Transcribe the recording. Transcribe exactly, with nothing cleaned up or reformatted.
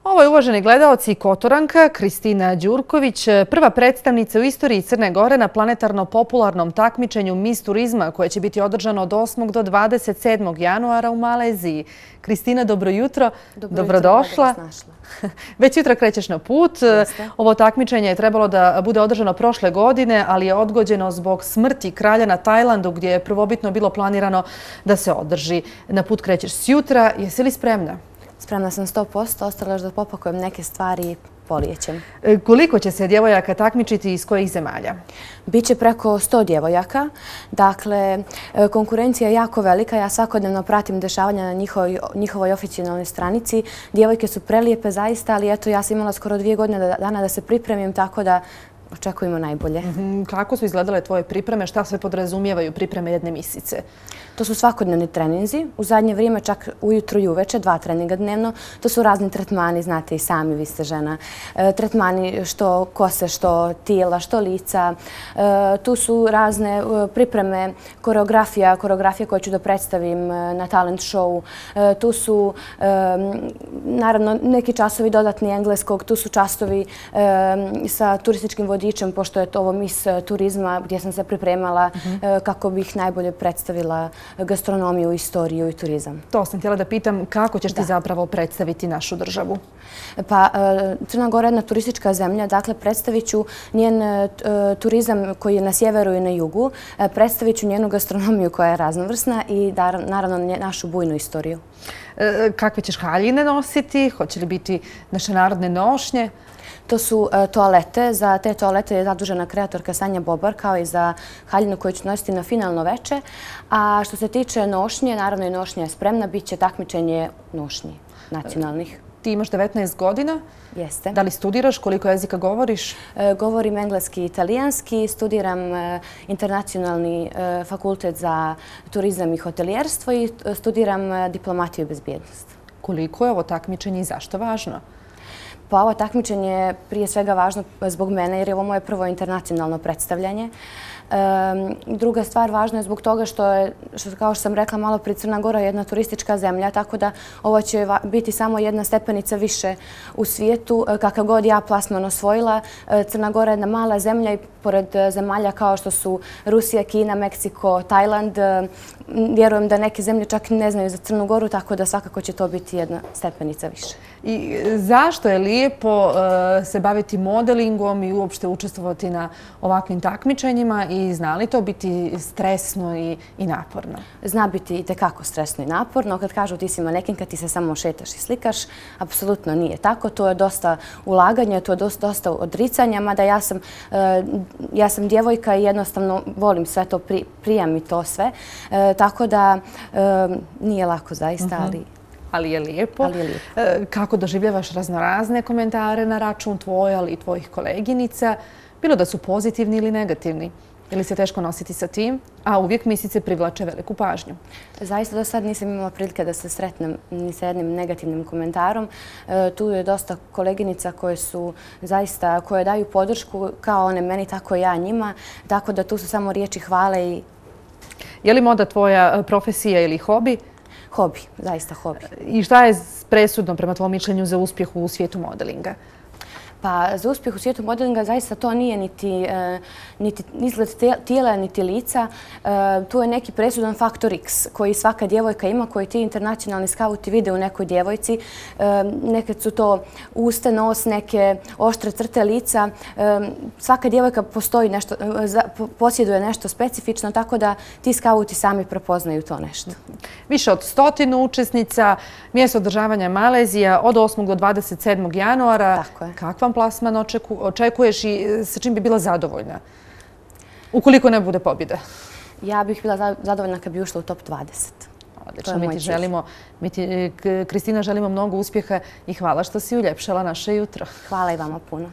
Ovo je, uvaženi gledaoci, Kotoranka Kristina Đurković, prva predstavnica u istoriji Crne Gore na planetarno-popularnom takmičenju Miss turizma koje će biti održano od osmog do dvadeset sedmog januara u Maleziji. Kristina, dobro jutro. Dobro Dobrodošla. jutro, da vas našla. Već jutra krećeš na put. Jeste. Ovo takmičenje je trebalo da bude održano prošle godine, ali je odgođeno zbog smrti kralja na Tajlandu, gdje je prvobitno bilo planirano da se održi. Na put krećeš sjutra. Jesi li spremna? Spremna sam sto posto, ostalo još da popakujem neke stvari i polijećem. Koliko će se djevojaka takmičiti i iz kojih zemalja? Biće preko sto djevojaka. Dakle, konkurencija je jako velika. Ja svakodnevno pratim dešavanja na njihovoj, njihovoj oficijalnoj stranici. Djevojke su prelijepe zaista, ali eto, ja sam imala skoro dvije godine dana da se pripremim, tako da očekujemo najbolje. Kako su izgledale tvoje pripreme? Šta sve podrazumijevaju pripreme jedne misice? To su svakodnevni treninzi. U zadnje vrijeme čak ujutro i uveče, dva treninga dnevno. To su razni tretmani, znate i sami, vi ste žena. E, tretmani što kose, što tijela, što lica. E, tu su razne e, pripreme, koreografija, koreografija koju ću da predstavim e, na talent show. E, tu su, e, naravno, neki časovi dodatni engleskog. Tu su časovi e, sa turističkim vodičem, pošto je to ovo Miss turizma, gdje sam se pripremala e, kako bih najbolje predstavila gastronomiju, istoriju i turizam. To sam htjela da pitam, kako ćeš ti zapravo predstaviti našu državu? Pa, Crna Gora je jedna turistička zemlja, dakle predstavit ću njen turizam koji je na sjeveru i na jugu, predstavit ću njenu gastronomiju koja je raznovrsna i naravno našu bujnu istoriju. Kakve ćeš haljine nositi? Hoće li biti naše narodne nošnje? To su toalete. Za te toalete je zadužena kreatorka Sanja Bobar, kao i za haljinu koju ću nositi na finalno veče. A što se tiče nošnje, naravno i nošnja je spremna, bit će takmičenje nošnji nacionalnih. Ti imaš devetnaest godina. Jeste. Da li studiraš? Koliko jezika govoriš? Govorim engleski i italijanski. Studiram internacionalni fakultet za turizam i hotelijerstvo i studiram diplomatiju i bezbjednost. Koliko je ovo takmičenje i zašto važno? Pa ovo takmičenje je prije svega važno zbog mene jer je ovo moje prvo internacionalno predstavljanje. Druga stvar važna je zbog toga što je, kao što sam rekla malo prije, Crna Gora je jedna turistička zemlja, tako da ovo će biti samo jedna stepenica više u svijetu. Kakav god ja plasman osvojila, Crna Gora je jedna mala zemlja i pored zemalja kao što su Rusija, Kina, Meksiko, Tajland, vjerujem da neke zemlje čak ne znaju za Crnu Goru, tako da svakako će to biti jedna stepenica više. I zašto je lijepo se baviti modelingom i uopšte učestvovati na ovakvim takmičenjima i zna li to biti stresno i naporno? Zna biti i tekako stresno i naporno. Kad kažu ti si manekinka, ti se samo šetaš i slikaš, apsolutno nije tako. To je dosta ulaganja, to je dosta odricanja, mada ja sam ja sam djevojka i jednostavno volim sve to, prijam mi to sve. Tako da nije lako zaista, ali... Ali je lijepo. Kako doživljavaš raznorazne komentare na račun tvoje, ali i tvojih koleginica? Bilo da su pozitivni ili negativni? Ili se teško nositi sa tim? A uvijek misice privlače veliku pažnju. Zaista do sad nisam imala prilike da se sretnem ni sa jednim negativnim komentarom. Tu je dosta koleginica koje su zaista, koje daju podršku kao one meni, tako i ja njima. Tako da tu su samo riječi hvale i... Je li moda tvoja profesija ili hobi? Hobi, zaista hobi. I šta je presudno prema tvojom mišljenju za uspjeh u svijetu modelinga? Pa za uspjeh u svijetu modelinga zaista to nije niti izgled tijela, niti lica. Tu je neki presudan faktor X koji svaka djevojka ima, koji ti internacionalni skauti vide u nekoj djevojci. Nekad su to uste, nos, neke oštre crte lica. Svaka djevojka postoji nešto, posjeduje nešto specifično, tako da ti skauti sami prepoznaju to nešto. Više od stotinu učesnica, mjesto održavanja Malezija od osmog do dvadeset sedmog januara. Tako je. Kakvan plasman očekuješ i sa čim bi bila zadovoljna? Ukoliko ne bude pobjede. Ja bih bila zadovoljna kad bi ušla u top dvadeset. Odlično, mi ti želimo, mi ti, Kristina, želimo mnogo uspjeha i hvala što si uljepšala naše jutro. Hvala i vama puno.